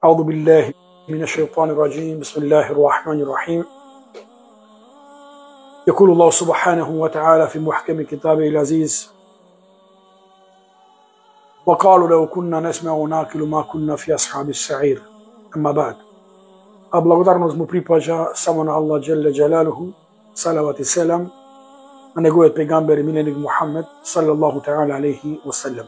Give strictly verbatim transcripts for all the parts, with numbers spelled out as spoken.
أعوذ بالله من الشيطان الرجيم بسم الله الرحمن الرحيم يقول الله سبحانه وتعالى في محكم كتابه العزيز وقالوا لو كنا نسمع وناكل ما كنا في أصحاب السعير. أما بعد, a благодарност му припаѓа само на Аллах Джелле Джалалуху, салават и селам на неговиот пегамбер и миленик Мухаммед салаллаху таала алейхи васелем.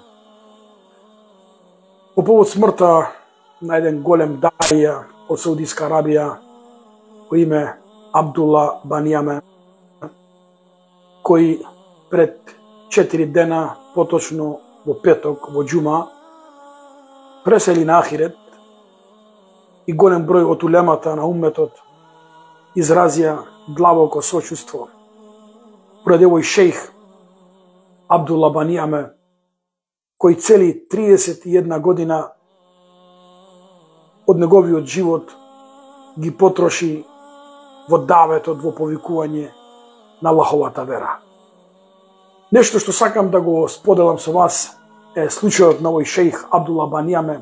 По повод смртта на еден голем даија од Саудиска Арабија по име Абдулла Баниаме, кој пред четири дена, поточно во петок, во џума, пресели на ахирет и голем број од улемата на умметот изразија длабоко сочувство поради овој шејх Абдулла Баниаме, кој цели триесет и една година од неговиот живот ги потроши во даветот, во повикување на Аллаховата вера. Нешто што сакам да го споделам со вас е случајот на овој шејх Абдулла Баниаме,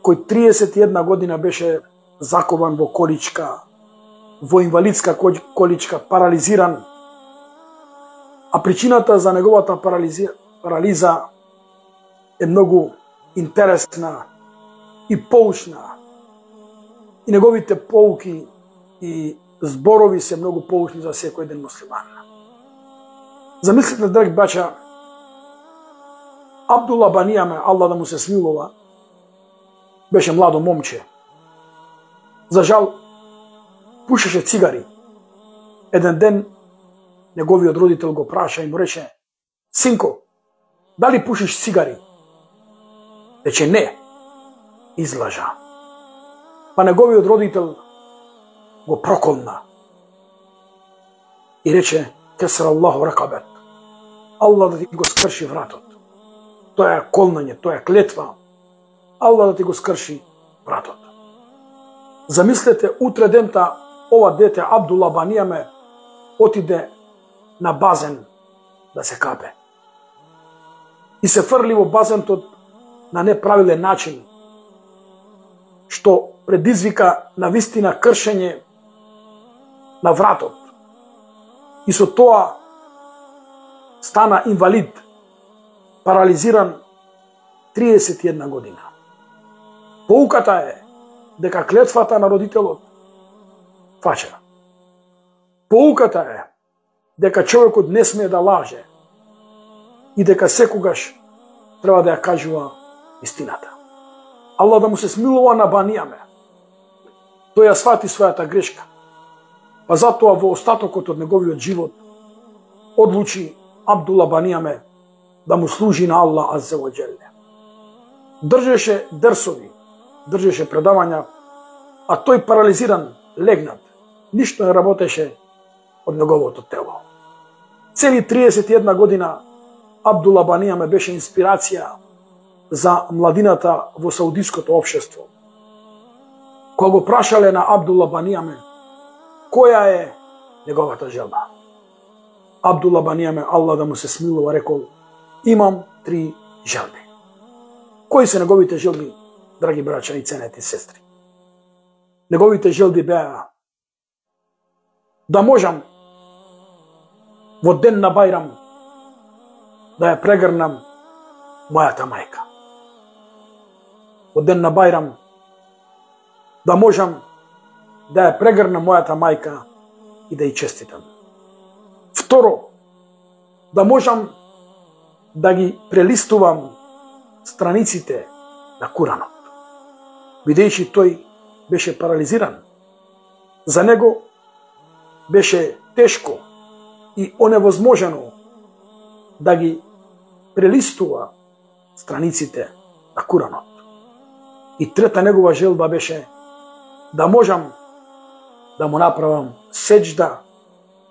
кој триесет и една година беше закован во количка, во инвалидска количка, парализиран, а причината за неговата парализа, парализа е многу интересна и поучна. И неговите поуки и зборови се многу поучни за секој еден муслиман. Замислете, драги бача, Абдулла Баниаме, Аллах да му се смилува, беше младо момче. За жал, пушеше цигари. Еден ден, неговиот родител го праша и му рече: "Синко, дали пушиш цигари?" Рече: "Не." Излажа. Па неговиот родител го проколна и рече: "Кесар Аллаху ракабет." Аллах да ти го скрши вратот. Тоа е колнање, тоа е клетва. Аллах да ти го скрши вратот. Замислете, утре дента ова дете Абдулла Баниаме отиде на базен да се капе. И се фрли во базентот на неправилен начин, што предизвика на вистина кршење на вратот. И со тоа стана инвалид, парализиран триесет и една година. Поуката е дека клетвата на родителот фача. Поуката е дека човекот не смее да лаже и дека секогаш треба да ја кажува истината. Аллах да му се смилува на Баниаме. Тој ја свати својата грешка. Па затоа во остатокот од неговиот живот одлучи Абдулла Баниаме да му служи на Аллах азза ва џелле. Држеше дерсови, држеше предавања, а тој парализиран, легнат, ништо не работеше од неговото тело. Цели триесет и една година Абдулла Баниаме беше инспирација за младината во саудиското општество. Кога го прашале на Абдулла Баниаме која е неговата желба, Абдулла Баниаме, Аллах да му се смилува, рекол: "Имам три желби." Кои се неговите желби, драги браќа и ценети сестри? Неговите желби беа да можам во ден на Бајрам да ја прегрнам мојата мајка. Во ден на Бајрам да можам да ја прегрнам мојата мајка и да ја честитам. Второ, да можам да ги прелистувам страниците на Куранот. Бидејќи тој беше парализиран, за него беше тешко и оневозможено да ги прелистува страниците на Куранот. И трета негова желба беше да можам да му направам сеџда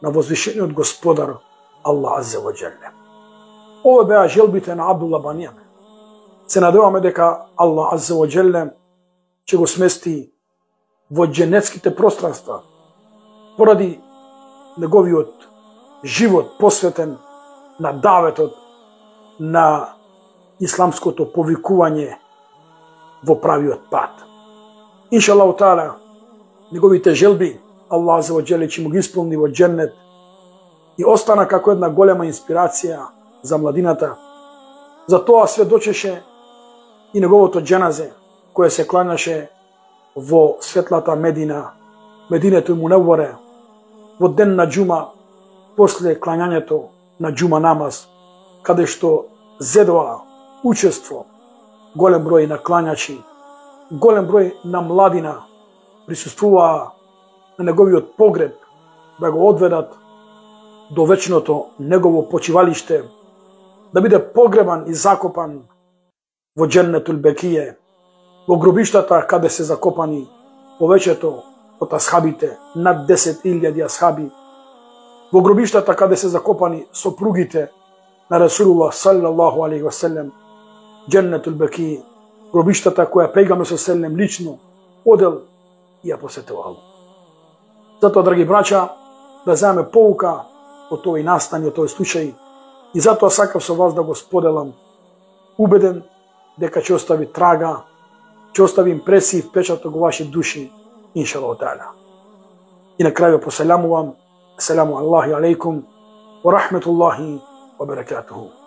на возвишениот Господар Аллах азза ва џелле. Ова беа желбите на Абдулла Баниаме. Се надеваме дека Аллах азза ва џелле ќе го смести во џенетските пространства поради неговиот живот посветен на даветот на исламското повикување во правиот пат. Иншаллаху таала, неговите желби Аллах азza wa jalla ќе му ги исполни во џеннет и остана како една голема инспирација за младината. За тоа сведочеше и неговото џеназе кое се кланяше во светлата Медина, Мединетул Мунаввара, во ден на џума, после клањањето на џума намаз, каде што зедоа учество голем број на клањачи, голем број на младина присуствуваа на неговиот погреб да го одведат до вечното негово почивалиште, да биде погребан и закопан во џеннетул бекие, во гробиштата каде се закопани повеќето од асхабите, над десет илјади асхаби, во гробиштата каде се закопани сопругите на Расулуллах саллаллаху алейхи ва селем, џеннетул бекие, гробиштата која пегамбер селем лично одел и ја посетувал. Затоа, драги браќа, да земеме поука од овој настан и од овој случај, и затоа сакав со вас да го споделам, убеден дека ќе остави трага, ќе остави импресии и впечаток во ваши души, иншаллаху таала. И на крај ве поселамувам. Ассаламу алейкум ва рахметуллахи ва баракатуху.